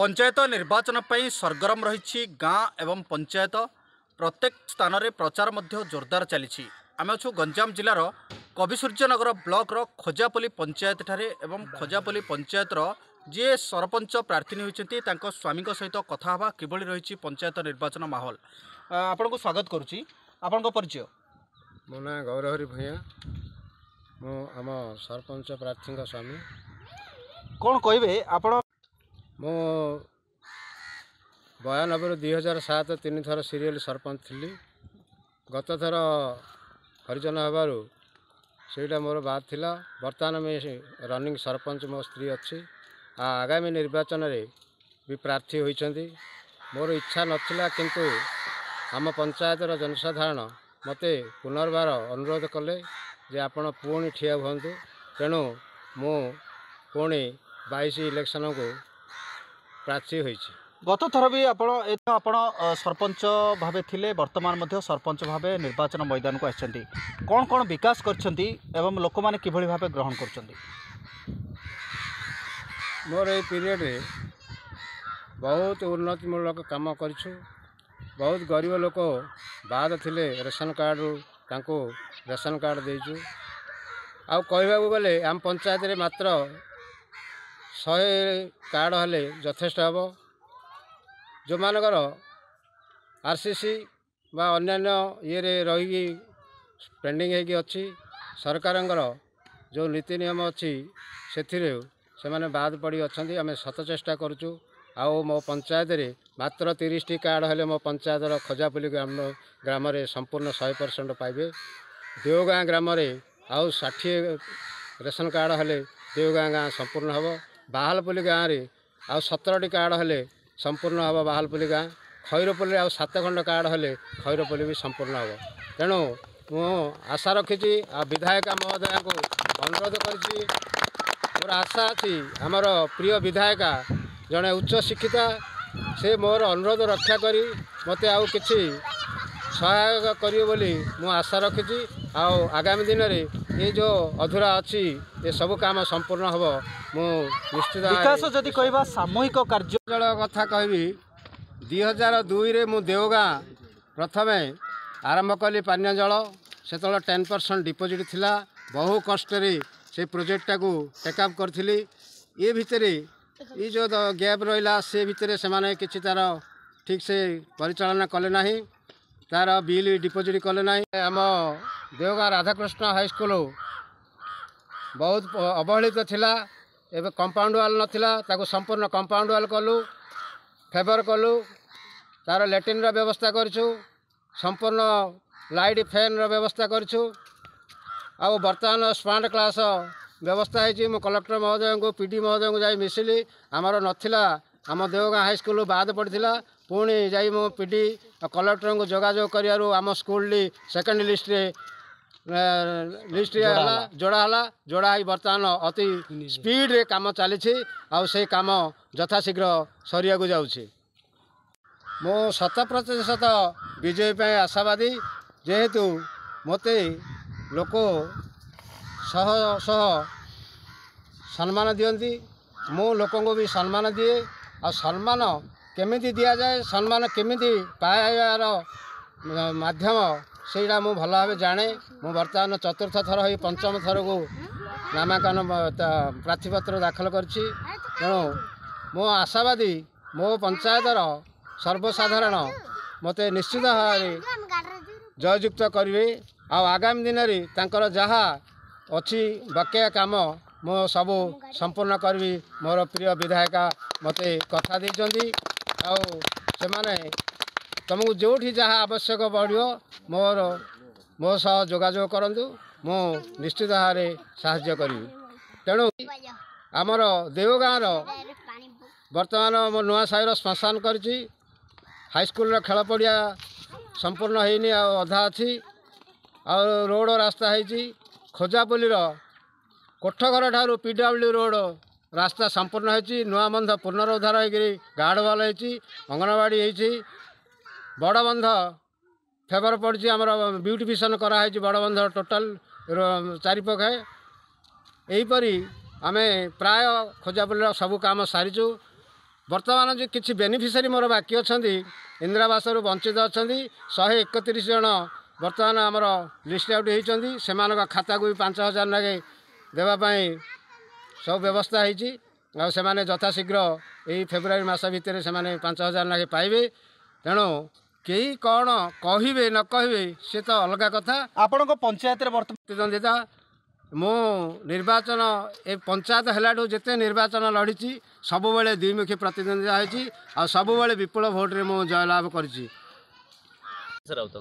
ପଞ୍ଚାୟତ ନିର୍ବାଚନ ପାଇଁ ସରଗରମ ରହିଛି ଗାଁ ଏବଂ ପଞ୍ଚାୟତ। ପ୍ରତ୍ୟେକ ସ୍ଥାନରେ ପ୍ରଚାର ମଧ୍ୟ ଜୋରଦାର ଚାଲିଛି। ଆମେ ଅଛୁ ଗଞ୍ଜାମ ଜିଲ୍ଲାର କବିସୂର୍ଯ୍ୟନଗର ବ୍ଲକର ଖୋଜାପଲ୍ଲୀ ପଞ୍ଚାୟତଠାରେ ଏବଂ ଖୋଜାପଲ୍ଲୀ ପଞ୍ଚାୟତର ଯିଏ ସରପଞ୍ଚ ପ୍ରାର୍ଥିନୀ ହୋଇଛନ୍ତି ତାଙ୍କ ସ୍ୱାମୀଙ୍କ ସହିତ କଥା ହେବା, କିଭଳି ରହିଛି ପଞ୍ଚାୟତ ନିର୍ବାଚନ ମାହୋଲ। ଆପଣଙ୍କୁ ସ୍ୱାଗତ କରୁଛି। ଆପଣଙ୍କ ପରିଚୟ? ମୋ ନାଁ ଗୌରହରି ଭୂୟାଁ, ମୁଁ ଆମ ସରପଞ୍ଚ ପ୍ରାର୍ଥୀଙ୍କ ସ୍ୱାମୀ। କ'ଣ କହିବେ ଆପଣ? ମୁଁ 92ରୁ 2007 ତିନିଥର ସିରିଏଲ୍ ସରପଞ୍ଚ ଥିଲି। ଗତଥର ହରିଜନ ହେବାରୁ ସେଇଟା ମୋର ବାଦ ଥିଲା। ବର୍ତ୍ତମାନ ମୁଁ ରନିଂ ସରପଞ୍ଚ, ମୋ ସ୍ତ୍ରୀ ଅଛି ଆଉ ଆଗାମୀ ନିର୍ବାଚନରେ ବି ପ୍ରାର୍ଥୀ ହୋଇଛନ୍ତି। ମୋର ଇଚ୍ଛା ନଥିଲା, କିନ୍ତୁ ଆମ ପଞ୍ଚାୟତର ଜନସାଧାରଣ ମୋତେ ପୁନର୍ବାର ଅନୁରୋଧ କଲେ ଯେ ଆପଣ ପୁଣି ଠିଆ ହୁଅନ୍ତୁ। ତେଣୁ ମୁଁ ପୁଣି 22 ଇଲେକ୍ସନକୁ ପ୍ରାର୍ଥୀ ହୋଇଛି। ଗତ ଥର ବି ଆପଣ ସରପଞ୍ଚ ଭାବେ ଥିଲେ, ବର୍ତ୍ତମାନ ମଧ୍ୟ ସରପଞ୍ଚ ଭାବେ ନିର୍ବାଚନ ମଇଦାନକୁ ଆସିଛନ୍ତି। କ'ଣ କ'ଣ ବିକାଶ କରିଛନ୍ତି ଏବଂ ଲୋକମାନେ କିଭଳି ଭାବେ ଗ୍ରହଣ କରୁଛନ୍ତି? ମୋର ଏଇ ପିରିୟଡ଼ରେ ବହୁତ ଉନ୍ନତିମୂଳକ କାମ କରିଛୁ। ବହୁତ ଗରିବ ଲୋକ ବାଦ ଥିଲେ ରେସନ କାର୍ଡ଼ରୁ, ତାଙ୍କୁ ରେସନ କାର୍ଡ଼ ଦେଇଛୁ। ଆଉ କହିବାକୁ ଗଲେ ଆମ ପଞ୍ଚାୟତରେ ମାତ୍ର 100 କାର୍ଡ଼ ହେଲେ ଯଥେଷ୍ଟ ହେବ। ଯେଉଁମାନଙ୍କର RCC ବା ଅନ୍ୟାନ୍ୟ ଇଏରେ ରହିକି ପେଣ୍ଡିଂ ହେଇକି ଅଛି, ସରକାରଙ୍କର ଯେଉଁ ନୀତି ନିୟମ ଅଛି ସେଥିରେ ସେମାନେ ବାଦ ପଡ଼ି ଅଛନ୍ତି। ଆମେ ଶତ ଚେଷ୍ଟା କରୁଛୁ। ଆଉ ମୋ ପଞ୍ଚାୟତରେ ମାତ୍ର 30ଟି କାର୍ଡ଼ ହେଲେ ମୋ ପଞ୍ଚାୟତର ଖୋଜାପଲ୍ଲୀ ଗ୍ରାମରେ ସମ୍ପୂର୍ଣ୍ଣ 100% ପାଇବେ। ଦେଓଗାଁ ଗ୍ରାମରେ ଆଉ 60 ରେସନ କାର୍ଡ଼ ହେଲେ ଦେଓଗାଁ ଗାଁ ସମ୍ପୂର୍ଣ୍ଣ ହେବ। ବାହାଲପଲ୍ଲୀ ଗାଁରେ ଆଉ 17ଟି କାର୍ଡ଼ ହେଲେ ସମ୍ପୂର୍ଣ୍ଣ ହେବ ବାହାଲପଲ୍ଲୀ ଗାଁ। ଖଇରପଲ୍ଲୀରେ ଆଉ 7 ଖଣ୍ଡ କାର୍ଡ଼ ହେଲେ ଖଇରପଲ୍ଲୀ ବି ସମ୍ପୂର୍ଣ୍ଣ ହେବ। ତେଣୁ ମୁଁ ଆଶା ରଖିଛି ଆଉ ବିଧାୟିକା ମହୋଦୟାଙ୍କୁ ଅନୁରୋଧ କରିଛି। ମୋର ଆଶା ଅଛି ଆମର ପ୍ରିୟ ବିଧାୟିକା ଜଣେ ଉଚ୍ଚ ଶିକ୍ଷିତା, ସେ ମୋର ଅନୁରୋଧ ରକ୍ଷା କରି ମୋତେ ଆଉ କିଛି ସହାୟକ କରିବେ ବୋଲି ମୁଁ ଆଶା ରଖିଛି। ଆଉ ଆଗାମୀ ଦିନରେ ଏ ଯେଉଁ ଅଧୁରା ଅଛି ଏସବୁ କାମ ସମ୍ପୂର୍ଣ୍ଣ ହେବ, ମୁଁ ନିଶ୍ଚିତ। ବିକାଶ ଯଦି କହିବା ସାମୂହିକ କାର୍ଯ୍ୟ ଜଳ କଥା କହିବି, 2002ରେ ମୁଁ ଦେଓଗାଁ ପ୍ରଥମେ ଆରମ୍ଭ କଲି ପାନୀୟ ଜଳ। ସେତେବେଳେ 10% ଡିପୋଜିଟ୍ ଥିଲା। ବହୁ କଷ୍ଟରେ ସେ ପ୍ରୋଜେକ୍ଟଟାକୁ ଟେକଅପ୍ କରିଥିଲି। ଏ ଭିତରେ ଏ ଯେଉଁ ଗ୍ୟାପ୍ ରହିଲା ସେ ଭିତରେ ସେମାନେ କିଛି ତା'ର ଠିକ୍ ସେ ପରିଚାଳନା କଲେ ନାହିଁ, ତା'ର ବିଲ୍ ଡିପୋଜିଟ୍ କଲେ ନାହିଁ। ଆମ ଦେଓଗାଁ ରାଧାକୃଷ୍ଣ ହାଇସ୍କୁଲ ବହୁତ ଅବହେଳିତ ଥିଲା, ଏବେ କମ୍ପାଉଣ୍ଡ ୱାଲ୍ ନଥିଲା, ତାକୁ ସମ୍ପୂର୍ଣ୍ଣ କମ୍ପାଉଣ୍ଡ ୱାଲ୍ କଲୁ, ଫେଭର କଲୁ, ତା'ର ଲାଟ୍ରିନ୍ର ବ୍ୟବସ୍ଥା କରିଛୁ, ସମ୍ପୂର୍ଣ୍ଣ ଲାଇଟ୍ ଫ୍ୟାନ୍ର ବ୍ୟବସ୍ଥା କରିଛୁ। ଆଉ ବର୍ତ୍ତମାନ ସ୍ମାର୍ଟ କ୍ଲାସ୍ ବ୍ୟବସ୍ଥା ହେଇଛି। ମୁଁ କଲେକ୍ଟର ମହୋଦୟଙ୍କୁ, PD ମହୋଦୟଙ୍କୁ ଯାଇ ମିଶିଲି। ଆମର ନଥିଲା, ଆମ ଦେଓଗାଁ ହାଇସ୍କୁଲ ବାଦ ପଡ଼ିଥିଲା। ପୁଣି ଯାଇ ମୁଁ PD କଲେକ୍ଟରଙ୍କୁ ଯୋଗାଯୋଗ କରିବାରୁ ଆମ ସ୍କୁଲଟି ସେକେଣ୍ଡ ଲିଷ୍ଟରେ ହେଲା, ଯୋଡ଼ା ହେଲା। ଯୋଡ଼ା ହେଇ ବର୍ତ୍ତମାନ ଅତି ସ୍ପିଡ଼ରେ କାମ ଚାଲିଛି ଆଉ ସେଇ କାମ ଯଥାଶୀଘ୍ର ସରିବାକୁ ଯାଉଛି। ମୁଁ 100% ବିଜୟ ପାଇଁ ଆଶାବାଦୀ, ଯେହେତୁ ମୋତେ ଲୋକ ଶହ ଶହ ସମ୍ମାନ ଦିଅନ୍ତି, ମୁଁ ଲୋକଙ୍କୁ ବି ସମ୍ମାନ ଦିଏ। ଆଉ ସମ୍ମାନ କେମିତି ଦିଆଯାଏ, ସମ୍ମାନ କେମିତି ପାଇବାର ମାଧ୍ୟମ ସେଇଟା ମୁଁ ଭଲ ଭାବେ ଜାଣେ। ମୁଁ ବର୍ତ୍ତମାନ ଚତୁର୍ଥ ଥର ହୋଇ ପଞ୍ଚମ ଥରକୁ ନାମାଙ୍କନ ପ୍ରାର୍ଥୀପତ୍ର ଦାଖଲ କରିଛି। ତେଣୁ ମୁଁ ଆଶାବାଦୀ ମୋ ପଞ୍ଚାୟତର ସର୍ବସାଧାରଣ ମୋତେ ନିଶ୍ଚିତ ଭାବରେ ଜୟଯୁକ୍ତ କରିବେ। ଆଉ ଆଗାମୀ ଦିନରେ ତାଙ୍କର ଯାହା ଅଛି ବକେୟା କାମ ମୁଁ ସବୁ ସମ୍ପୂର୍ଣ୍ଣ କରିବି। ମୋର ପ୍ରିୟ ବିଧାୟିକା ମୋତେ କଥା ଦେଇଛନ୍ତି। ଆଉ ସେମାନେ ତୁମକୁ ଯେଉଁଠି ଯାହା ଆବଶ୍ୟକ ପଡ଼ିବ ମୋ ସହ ଯୋଗାଯୋଗ କରନ୍ତୁ, ମୁଁ ନିଶ୍ଚିତ ଭାବରେ ସାହାଯ୍ୟ କରିବି। ତେଣୁ ଆମର ଦେଓଗାଁର ବର୍ତ୍ତମାନ ମୋ ନୂଆ ସାହିର ଶ୍ମଶାନ କରିଛି। ହାଇସ୍କୁଲର ଖେଳ ପଡ଼ିଆ ସମ୍ପୂର୍ଣ୍ଣ ହେଇନି, ଆଉ ଅଧା ଅଛି। ଆଉ ରୋଡ଼ ରାସ୍ତା ହେଇଛି। ଖୋଜାପଲ୍ଲୀର କୋଠଘର ଠାରୁ PW road ରାସ୍ତା ସମ୍ପୂର୍ଣ୍ଣ ହେଇଛି। ନୂଆବନ୍ଧ ପୁନରୁଦ୍ଧାର ହେଇକରି ଗାର୍ଡ଼ ୱାଲ୍ ହେଇଛି, ଅଙ୍ଗନବାଡ଼ି ହେଇଛି। ବଡ଼ବନ୍ଧ ଫେଭର ପଡ଼ିଛି, ଆମର ବ୍ୟୁଟିଫିକେସନ୍ କରାହେଇଛି ବଡ଼ବନ୍ଧ ଟୋଟାଲ୍ ଚାରିପାଖେ। ଏହିପରି ଆମେ ପ୍ରାୟ ଖୋଜାପଲ୍ଲୀର ସବୁ କାମ ସାରିଛୁ। ବର୍ତ୍ତମାନ ଯେ କିଛି ବେନିଫିସିଆରୀ ମୋର ବାକି ଅଛନ୍ତି, ଇନ୍ଦିରାବାସରୁ ବଞ୍ଚିତ ଅଛନ୍ତି 131 ଜଣ ବର୍ତ୍ତମାନ ଆମର ଲିଷ୍ଟ ଆଉଟ୍ ହେଇଛନ୍ତି। ସେମାନଙ୍କ ଖାତାକୁ ବି 5,000 ଲେଖାଏଁ ଦେବା ପାଇଁ ସବୁ ବ୍ୟବସ୍ଥା ହେଇଛି। ଆଉ ସେମାନେ ଯଥାଶୀଘ୍ର ଏଇ ଫେବୃଆରୀ ମାସ ଭିତରେ ସେମାନେ 5,000 ଲେଖାଏଁ ପାଇବେ। ତେଣୁ କେହି କ'ଣ କହିବେ ନ କହିବେ ସେ ତ ଅଲଗା କଥା। ଆପଣଙ୍କ ପଞ୍ଚାୟତରେ ବର୍ତ୍ତମାନ ପ୍ରତିଦ୍ୱନ୍ଦିତା, ମୁଁ ନିର୍ବାଚନ ଏ ପଞ୍ଚାୟତ ହେଲାଠୁ ଯେତେ ନିର୍ବାଚନ ଲଢ଼ିଛି ସବୁବେଳେ ଦ୍ୱିମୁଖୀ ପ୍ରତିଦ୍ୱନ୍ଦିତା ହେଇଛି ଆଉ ସବୁବେଳେ ବିପୁଳ ଭୋଟରେ ମୁଁ ଜୟଲାଭ କରିଛି। ରାଉତ।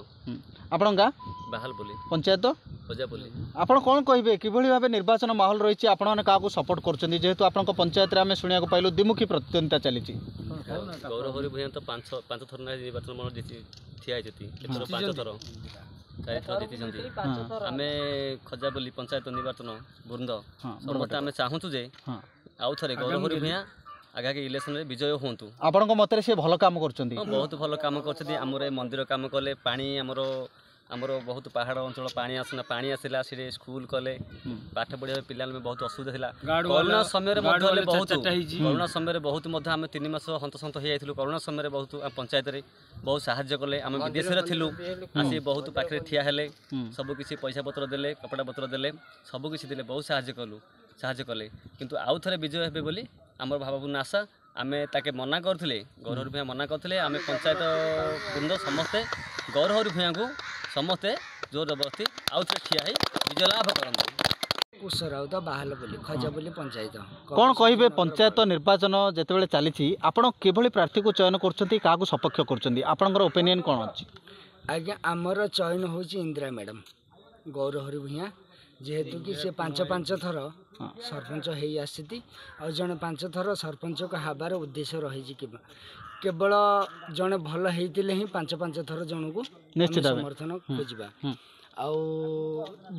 ଆପଣଙ୍କ ଗାଁ? ବାହାଲପଲ୍ଲୀ। ପଞ୍ଚାୟତ? ଖୋଜାପଲ୍ଲୀ। ଆପଣ କ'ଣ କହିବେ, କିଭଳି ଭାବେ ନିର୍ବାଚନ ମାହୋଲ ରହିଛି, ଆପଣମାନେ କାହାକୁ ସପୋର୍ଟ କରୁଛନ୍ତି? ଯେହେତୁ ଆପଣଙ୍କ ପଞ୍ଚାୟତରେ ଆମେ ଶୁଣିବାକୁ ପାଇଲୁ ଦ୍ୱିମୁଖୀ ପ୍ରତିଦ୍ୱନ୍ଦିତା ଚାଲିଛି। ଗୌରହରି ଭୂୟାଁ ତ ପାଞ୍ଚ ଥର ନାଖେ ନିର୍ବାଚନ ମଣ୍ଡଳୀ ଜିତି ଠିଆ ହେଇଛନ୍ତି। ଏଥର 5 ଥର, 4 ଥର ଜିତିଛନ୍ତି। ଆମେ ଖଜାପଲ୍ଲୀ ପଞ୍ଚାୟତ ନିର୍ବାଚନ ବୃନ୍ଦ ସମସ୍ତେ ଆମେ ଚାହୁଁଛୁ ଯେ ଆଉ ଥରେ ଗୌରହରି ଭୂୟାଁ ଆଗାମୀ ଇଲେକ୍ସନରେ ବିଜୟ ହୁଅନ୍ତୁ। ଆପଣଙ୍କ ମତରେ ସେ ଭଲ କାମ କରୁଛନ୍ତି? ହଁ, ବହୁତ ଭଲ କାମ କରୁଛନ୍ତି। ଆମର ଏ ମନ୍ଦିର କାମ କଲେ, ପାଣି ଆମର ବହୁତ ପାହାଡ଼ ଅଞ୍ଚଳ, ପାଣି ଆସୁନା, ପାଣି ଆସିଲା। ସେଠି ସ୍କୁଲ କଲେ, ପାଠ ପଢ଼ିବା ପିଲାମାନେ ବହୁତ ଅସୁବିଧା ଥିଲା। କରୋନା ସମୟରେ ମଧ୍ୟ ହେଲେ ବହୁତ, କରୋନା ସମୟରେ ବହୁତ ମଧ୍ୟ ଆମେ 3 ମାସ ହନ୍ତସନ୍ତ ହେଇଯାଇଥିଲୁ। କରୋନା ସମୟରେ ବହୁତ ଆମ ପଞ୍ଚାୟତରେ ବହୁତ ସାହାଯ୍ୟ କଲେ। ଆମେ ବିଦେଶରେ ଥିଲୁ, ଆସି ବହୁତ ପାଖରେ ଠିଆ ହେଲେ, ସବୁ କିଛି ପଇସା ପତ୍ର ଦେଲେ, କପଡ଼ା ପତ୍ର ଦେଲେ, ସବୁ କିଛି ଦେଲେ, ବହୁତ ସାହାଯ୍ୟ କଲୁ, ସାହାଯ୍ୟ କଲେ। କିନ୍ତୁ ଆଉ ଥରେ ବିଜୟ ହେବେ ବୋଲି ଆମର ଭାବପୂର୍ଣ୍ଣ ଆଶା। ଆମେ ତାକେ ମନା କରୁଥିଲେ, ଗୌରହରି ଭୂୟାଁ ମନା କରୁଥିଲେ। ଆମେ ପଞ୍ଚାୟତ ବୃନ୍ଦ ସମସ୍ତେ ଗୌରହରି ଭୂୟାଁକୁ ସମସ୍ତେ ଜୋର ଜବରଦସ୍ତି ଆଉ ଥରେ ଠିଆ ହେଇ ବିଜୟ ଲାଭ କରନ୍ତୁ। କୁଶ ରାଉତ, ବାହାଲପଲ୍ଲୀ, ଖଜାପଲ୍ଲୀ ପଞ୍ଚାୟତ। କ'ଣ କହିବେ, ପଞ୍ଚାୟତ ନିର୍ବାଚନ ଯେତେବେଳେ ଚାଲିଛି ଆପଣ କିଭଳି ପ୍ରାର୍ଥୀକୁ ଚୟନ କରୁଛନ୍ତି, କାହାକୁ ସପକ୍ଷ କରୁଛନ୍ତି, ଆପଣଙ୍କର ଓପିନିଅନ୍ କ'ଣ ଅଛି? ଆଜ୍ଞା, ଆମର ଚୟନ ହେଉଛି ଇନ୍ଦିରା ମ୍ୟାଡ଼ାମ୍, ଗୌରହରି ଭୂୟାଁ। ଯେହେତୁ କି ସେ 5 ଥର ସରପଞ୍ଚ ହେଇ ଆସିଛନ୍ତି ଆଉ ଜଣେ 5 ଥର ସରପଞ୍ଚକୁ ହେବାର ଉଦ୍ଦେଶ୍ୟ ରହିଛି କି କେବଳ ଜଣେ ଭଲ ହେଇଥିଲେ ହିଁ 5 ଥର ଜଣକୁ ନିଶ୍ଚିତ ଭାବେ ସମର୍ଥନ ଖୋଜିବା। ଆଉ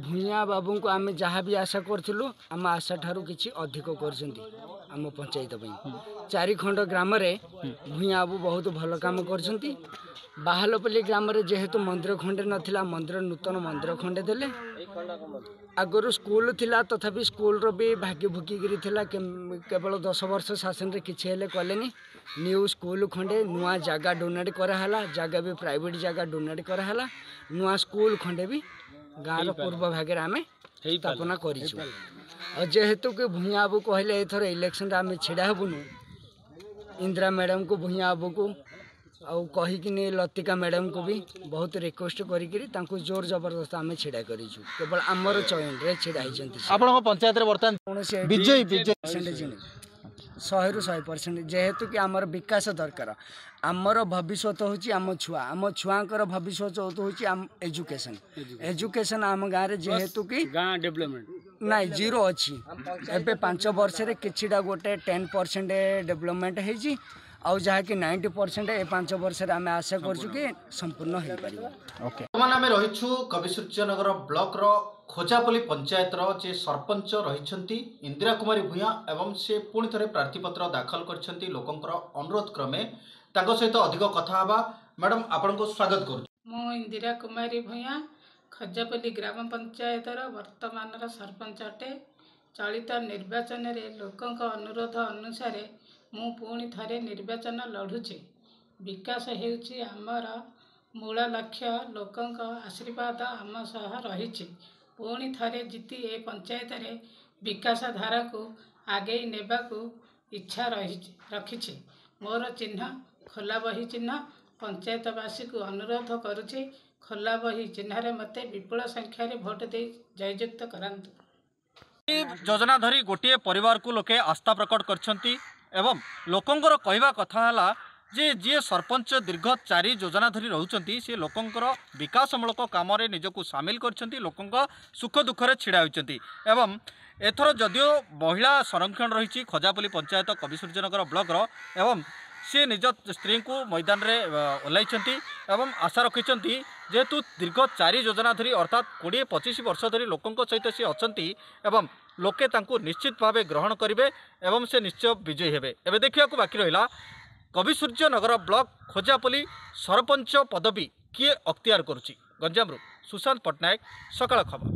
ଭୂୟାଁ ବାବୁଙ୍କୁ ଆମେ ଯାହା ବି ଆଶା କରିଥିଲୁ ଆମ ଆଶା ଠାରୁ କିଛି ଅଧିକ କରିଛନ୍ତି ଆମ ପଞ୍ଚାୟତ ପାଇଁ। 4 ଖଣ୍ଡ ଗ୍ରାମରେ ଭୂୟାଁ ବାବୁ ବହୁତ ଭଲ କାମ କରିଛନ୍ତି। ବାହାଲପଲ୍ଲୀ ଗ୍ରାମରେ ଯେହେତୁ ମନ୍ଦିର ଖଣ୍ଡେ ନଥିଲା, ମନ୍ଦିର ନୂତନ ମନ୍ଦିର ଖଣ୍ଡେ ଦେଲେ। ଆଗରୁ ସ୍କୁଲ ଥିଲା, ତଥାପି ସ୍କୁଲର ବି ଭାଗି ଭୁଗିକିରି ଥିଲା। କେବଳ 10 ବର୍ଷ ଶାସନରେ କିଛି ହେଲେ କଲେନି। ନ୍ୟୁ ସ୍କୁଲ ଖଣ୍ଡେ, ନୂଆ ଜାଗା ଡୋନେଟ୍ କରାହେଲା, ଜାଗା ବି ପ୍ରାଇଭେଟ୍ ଜାଗା ଡୋନେଟ୍ କରାହେଲା। ନୂଆ ସ୍କୁଲ ଖଣ୍ଡେ ବି ଗାଁର ପୂର୍ବ ଭାଗରେ ଆମେ ସ୍ଥାପନା କରିଛୁ। ଆଉ ଯେହେତୁ କି ଭୂୟାଁ ବାବୁ କହିଲେ ଏଥର ଇଲେକ୍ସନରେ ଆମେ ଛିଡ଼ା ହେବୁନୁ, ଇନ୍ଦିରା ମ୍ୟାଡ଼ାମକୁ, ଭୂୟାଁ ବାବୁକୁ ଆଉ କହିକିନି ଲତିକା ମ୍ୟାଡ଼ାମକୁ ବି ବହୁତ ରିକ୍ୱେଷ୍ଟ କରିକିରି ତାଙ୍କୁ ଜୋର ଜବରଦସ୍ତ ଆମେ ଛିଡ଼ା କରିଛୁ। କେବଳ ଆମର ଚୟନରେ ଛିଡ଼ା ହେଇଛନ୍ତି। ଆପଣଙ୍କ ପଞ୍ଚାୟତରେ ବର୍ତ୍ତମାନ କୌଣସି ବିଜୟୀ ବିଜୟ ପରସେଣ୍ଟ 100ରୁ 100%। ଯେହେତୁ କି ଆମର ବିକାଶ ଦରକାର, ଆମର ଭବିଷ୍ୟତ ହେଉଛି ଆମ ଛୁଆ, ଆମ ଛୁଆଙ୍କର ଭବିଷ୍ୟତ ହେଉଛି ଆମ ଏଜୁକେସନ୍। ଏଜୁକେସନ୍ ଆମ ଗାଁରେ ଯେହେତୁ କି ଗାଁ ଡେଭଲପମେଣ୍ଟ ନାଇଁ, ଜିରୋ ଅଛି। ଏବେ 5 ବର୍ଷରେ କିଛିଟା ଗୋଟେ 10% ଡେଭଲପମେଣ୍ଟ ହେଇଛି, ଆଉ ଯାହାକି 90% ଏ 5 ବର୍ଷରେ ଆମେ ଆଶା କରୁଛୁ କି ସମ୍ପୂର୍ଣ୍ଣ ହେଇପାରିବ। ଓକେ, ବର୍ତ୍ତମାନ ଆମେ ରହିଛୁ କବିସୂର୍ଯ୍ୟନଗର ବ୍ଲକର ଖୋଜାପଲ୍ଲୀ ପଞ୍ଚାୟତର ଯେ ସରପଞ୍ଚ ରହିଛନ୍ତି ଇନ୍ଦିରା କୁମାରୀ ଭୂୟାଁ ଏବଂ ସେ ପୁଣି ଥରେ ପ୍ରାର୍ଥୀପତ୍ର ଦାଖଲ କରିଛନ୍ତି ଲୋକଙ୍କର ଅନୁରୋଧ କ୍ରମେ। ତାଙ୍କ ସହିତ ଅଧିକ କଥା ହେବା। ମ୍ୟାଡ଼ାମ୍, ଆପଣଙ୍କୁ ସ୍ୱାଗତ କରୁଛୁ। ମୁଁ ଇନ୍ଦିରା କୁମାରୀ ଭୂୟାଁ, ଖଜାପଲ୍ଲୀ ଗ୍ରାମ ପଞ୍ଚାୟତର ବର୍ତ୍ତମାନର ସରପଞ୍ଚ ଅଟେ। ଚଳିତ ନିର୍ବାଚନରେ ଲୋକଙ୍କ ଅନୁରୋଧ ଅନୁସାରେ ମୁଁ ପୁଣି ଥରେ ନିର୍ବାଚନ ଲଢ଼ୁଛି। ବିକାଶ ହେଉଛି ଆମର ମୂଳ ଲକ୍ଷ୍ୟ। ଲୋକଙ୍କ ଆଶୀର୍ବାଦ ଆମ ସହ ରହିଛି। ପୁଣି ଥରେ ଜିତି ଏ ପଞ୍ଚାୟତରେ ବିକାଶ ଧାରାକୁ ଆଗେଇ ନେବାକୁ ଇଚ୍ଛା ରହିଛି ରଖିଛି। ମୋର ଚିହ୍ନ ଖୋଲା ବହି ଚିହ୍ନ। ପଞ୍ଚାୟତବାସୀକୁ ଅନୁରୋଧ କରୁଛି, ଖୋଲା ବହି ଚିହ୍ନରେ ମୋତେ ବିପୁଳ ସଂଖ୍ୟାରେ ଭୋଟ ଦେଇ ଜୟଯୁକ୍ତ କରାନ୍ତୁ। ଯୋଜନା ଧରି ଗୋଟିଏ ପରିବାରକୁ ଲୋକେ ଆସ୍ଥା ପ୍ରକଟ କରିଛନ୍ତି ଏବଂ ଲୋକଙ୍କର କହିବା କଥା ହେଲା ଯେ ଯିଏ ସରପଞ୍ଚ ଦୀର୍ଘ 4 ଯୋଜନା ଧରି ରହୁଛନ୍ତି, ସେ ଲୋକଙ୍କର ବିକାଶମୂଳକ କାମରେ ନିଜକୁ ସାମିଲ କରିଛନ୍ତି, ଲୋକଙ୍କ ସୁଖ ଦୁଃଖରେ ଛିଡ଼ା ହୋଇଛନ୍ତି। ଏବଂ ଏଥର ଯଦିଓ ମହିଳା ସଂରକ୍ଷଣ ରହିଛି ଖଜାପଲ୍ଲୀ ପଞ୍ଚାୟତ କବିସୂର୍ଯ୍ୟନଗର ବ୍ଲକର, ଏବଂ ସିଏ ନିଜ ସ୍ତ୍ରୀଙ୍କୁ ମଇଦାନରେ ଓହ୍ଲାଇଛନ୍ତି ଏବଂ ଆଶା ରଖିଛନ୍ତି, ଯେହେତୁ ଦୀର୍ଘ 4 ଯୋଜନା ଧରି ଅର୍ଥାତ୍ 20-25 ବର୍ଷ ଧରି ଲୋକଙ୍କ ସହିତ ସିଏ ଅଛନ୍ତି ଏବଂ ଲୋକେ ତାଙ୍କୁ ନିଶ୍ଚିତ ଭାବେ ଗ୍ରହଣ କରିବେ ଏବଂ ସେ ନିଶ୍ଚୟ ବିଜୟୀ ହେବେ। ଏବେ ଦେଖିବାକୁ ବାକି ରହିଲା କବିସୂର୍ଯ୍ୟନଗର ବ୍ଲକ ଖୋଜାପଲ୍ଲୀ ସରପଞ୍ଚ ପଦବୀ କିଏ ଅକ୍ତିଆର କରୁଛି। ଗଞ୍ଜାମରୁ ସୁଶାନ୍ତ ପଟ୍ଟନାୟକ, ସକାଳ ଖବର।